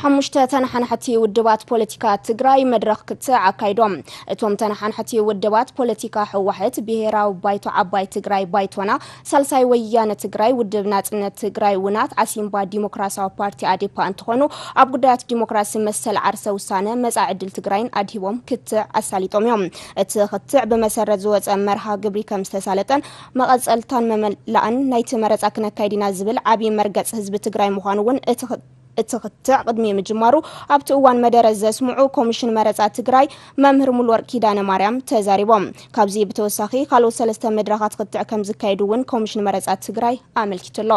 ሓሙሽተ ተነሓናሕቲ ውድባት ፖለቲካ ትግራይ መድረኽ ክትዕ ኣካይዶም። እቶም ተነሓናሕቲ ውድባት ፖለቲካ ህወሓት፣ ብሄራዊ ባይቶ ዓባይ ትግራይ ባይቶና፣ ሳልሳይ ወያነ ትግራይ፣ ውድብ ናፅነት ትግራይ ውናት፣ ዓሲምባ ዲሞክራሲያዊ ፓርቲ ኣዴፓ እንትኾኑ፣ ኣብ ጉዳያት ዲሞክራሲ፣ መሰል ዓርሰ ውሳነ፣ መፃኢ ዕድል ትግራይን ኣድሂቦም ክትዕ ኣሳሊጦም እዮም። እቲ ክትዕ ብመሰረት ዝወፀ መርሃ ግብሪ ከም ዝተሳለጠን መቐፀልታን መመላእን ናይቲ መረፃ ክነካይድ ኢና ዝብል ዓብዪ መርገፂ ህዝቢ ትግራይ ምዃኑ እውን እቲ እቲ ክትዕ ቅድሚ ምጅማሩ ኣብቲ እዋን መደረ ዘስምዑ ኮሚሽን መረፃ ትግራይ መምህር ሙሉወርቅ ኪዳነ ማርያም ተዛሪቦም። ካብዚ ብተወሳኺ ካልኦት ሰለስተ መድረኻት ክትዕ ከም ዝካየዱ እውን ኮሚሽን መረፃ ትግራይ ኣመልኪቱ ኣሎ።